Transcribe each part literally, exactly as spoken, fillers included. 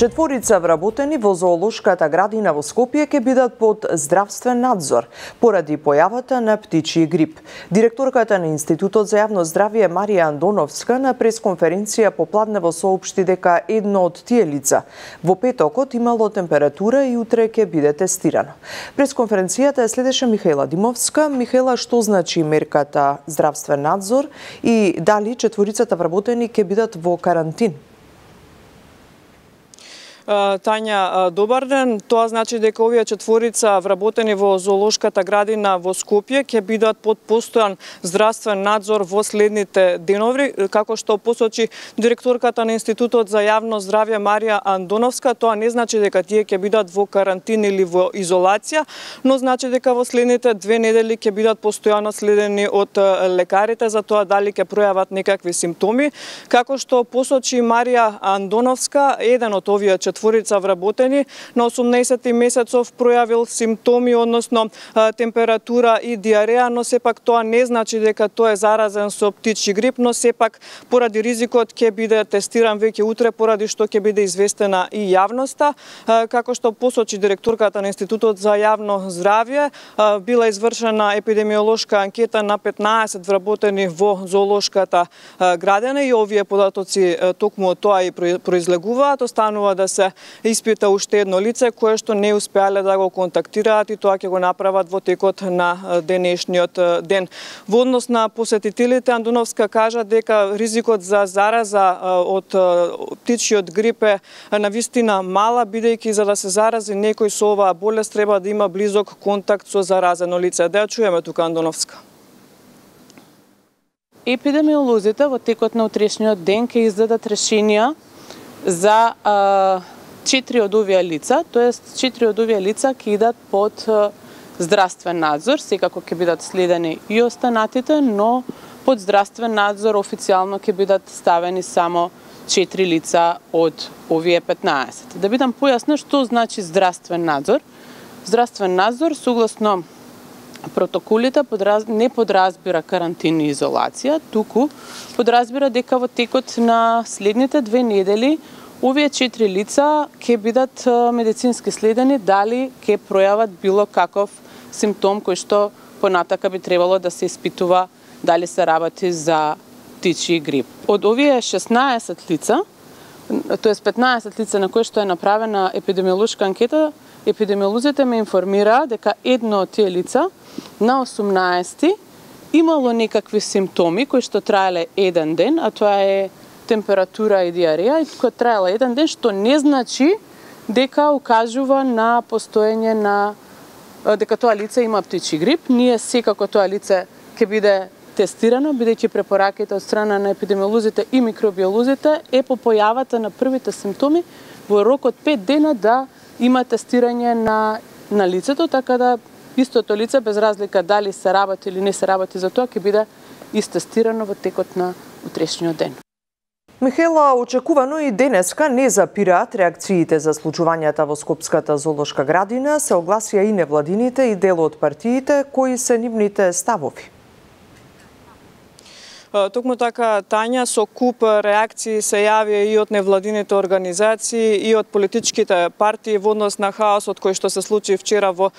Четворица вработени во зоолошката градина во Скопје ќе бидат под здравствен надзор поради појавата на птичји грип. Директорката на Институтот за јавно здравје Марија Андоновска на пресконференција попладнево соопшти дека едно од тие лица во петокот имало температура и утре ќе биде тестирано. Пресконференцијата ја следеше Михаела Димовска. Михаела, што значи мерката здравствен надзор и дали четворицата вработени ќе бидат во карантин? Тања, добар ден. Тоа значи дека овие четворица вработени во зоолошката градина во Скопје ќе бидат под постојан здравствен надзор во следните денови, како што посочи директорката на Институтот за јавно здравје Марија Андоновска. Тоа не значи дека тие ќе бидат во карантин или во изолација, но значи дека во следните две недели ќе бидат постојано следени од лекарите за тоа дали ќе пројават некакви симптоми. Како што посочи Марија Андоновска, еден од овие четворица вработени на осумнаесети месецов пројавил симптоми, односно температура и диареја, но сепак тоа не значи дека тоа е заразен со птичји грип, но сепак поради ризикот ќе биде тестиран веќе утре, поради што ќе биде известена и јавноста. Како што посочи директорката на Институтот за јавно здравје, била извршена епидемиолошка анкета на петнаесет вработени во зоолошката градина и овие податоци токму од тоа и произлегуваат. Останува да се испита уште едно лице кое што не успеале да го контактираат и тоа ќе го направат во текот на денешниот ден. Во однос на посетителите, Андоновска кажа дека ризикот за зараза од птичјиот грип е навистина мала, бидејќи за да се зарази некој со оваа болест треба да има близок контакт со заразено лице. Да ја чуеме тука Андоновска. Епидемиолозите во текот на утрешниот ден ќе издадат решенија за а, четири од овие лица, тоест четири од овие лица ќе идат под а, здравствен надзор, секако ќе бидат следени и останатите, но под здравствен надзор официјално ќе бидат ставени само четири лица од овие петнаесет. Да бидам појасна што значи здравствен надзор. Здравствен надзор согласно протоколите подраз... не подразбира карантин и изолација, туку подразбира дека во текот на следните две недели овие четири лица ќе бидат медицински следени дали ќе пројават било каков симптом кој што понатака би требало да се испитува дали се работи за птичји грип. Од овие шеснаесет лица, тоест петнаесет лица на кои што е направена епидемиолошка анкета, епидемиолозите ме информираа дека едно од тие лица на осумнаесети имало некакви симптоми кои што траеле еден ден, а тоа е температура и диареја, и која траела еден ден, што не значи дека укажува на постоење на дека тоа лице има птичји грип. Ние секако тоа лице ќе биде тестирано, бидејќи препораките од страна на епидемиолозите и микробиолозите е по појавата на првите симптоми во рок од пет дена да има тестирање на на лицето, така да истото лице без разлика дали се работи или не се работи за тоа ќе биде истестирано во текот на утрешниот ден. Михаела, очекувано и денеска не запираат реакциите за случувањата во Скопската зоолошка градина, се огласија и невладините и дел од партиите кои се нивните ставови. Токму така, Тања, со куп реакции се јавија и од невладините организации и од политичките партии во однос на хаосот кој што се случи вчера во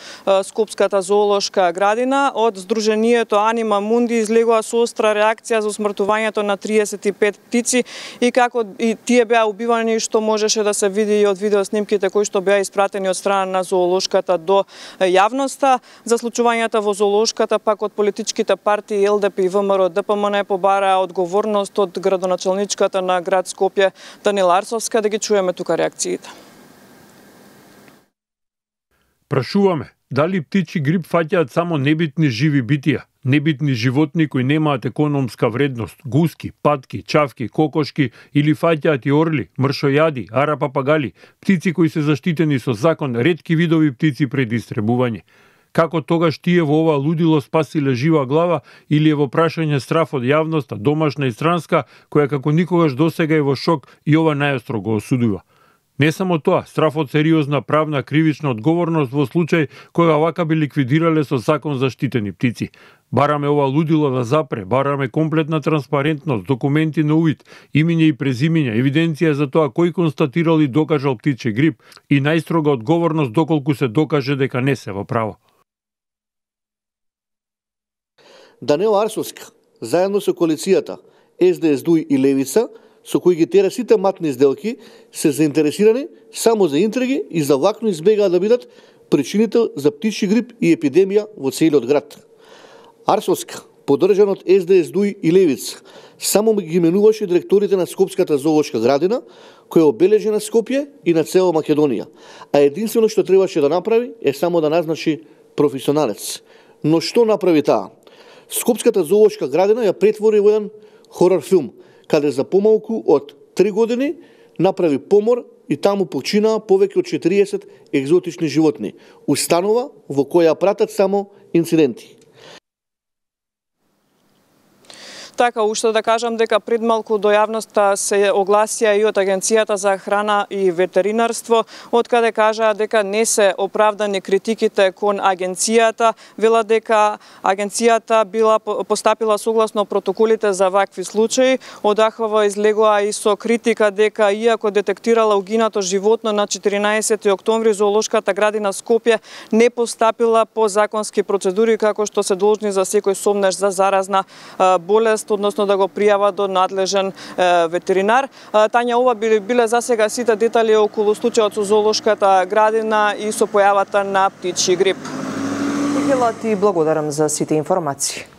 Скопската зоолошка градина. Од Сдруженијето Анима Мунди излегува со остра реакција за усмртувањето на триесет и пет птици и како и тие беа убивани, што можеше да се види и од видеоснимките кои што беа испратени од страна на зоолошката до јавноста. За случувањата во зоолошката пак од политичките партии Ел Де Пи и Вэ Ем Р Д П М Н побараа одговорност од градоначалничката на град Скопје Данила Арсовска. Да ги чуеме тука реакциите. Прашуваме, дали птичји грип фаќаат само небитни живи битија, небитни животни кои немаат економска вредност, гуски, патки, чавки, кокошки или фаќаат и орли, мршојади, арапапагали, птици кои се заштитени со закон, ретки видови птици пред истребување. Како тогаш тие во ова лудило спасиле жива глава или е во прашање страф од јавноста, домашна и странска, која како никогаш досега е во шок и ова најостро го осудува. Не само тоа, страф од сериозна правна кривична одговорност во случај кога вака би ликвидирале со закон заштитени птици. Бараме ова лудило да запре, бараме комплетна транспарентност, документи на увид, имиње и презимиња, евиденција за тоа кој констатирал и докажал птичи грип и најстрога одговорност доколку се докаже дека не се во право. Даниел Арсовска, заедно со коалицијата Ес Де Ес Дуј и Левица, со кои ги тера сите матни сделки, се заинтересирани само за интриги и за влакно избегаат да бидат причинител за птичи грип и епидемија во целиот град. Арсовска, поддржан од Ес Де Ес Дуј и Левица, само ги менуваше директорите на Скопската зоолошка градина, која обележи на Скопје и на цела Македонија, а единствено што требаше да направи е само да назначи професионалец. Но што направи таа? Скопската зоолошка градина ја претвори во еден хорор филм, каде за помалку од три години направи помор и таму починаа повеќе од четириесет екзотични животни. Установа во која пратат само инциденти. Така, уште да кажам дека пред малку до јавноста се огласија и од Агенцијата за храна и ветеринарство, од каде кажаа дека не се оправдани критиките кон агенцијата, вела дека агенцијата била постапила согласно протоколите за вакви случаи. Одахова излегоа и со критика дека иако детектирала угинато животно на четиринаесети октомври, зоолошката градина Скопје не постапила по законски процедури како што се должни за секој сомнеш за заразна болест, односно да го пријава до надлежен е, ветеринар. Тања, ова биле, биле за сега сите детали околу случајот со зоолошката градина и со појавата на птичји грип. Михела, ти благодарам за сите информации.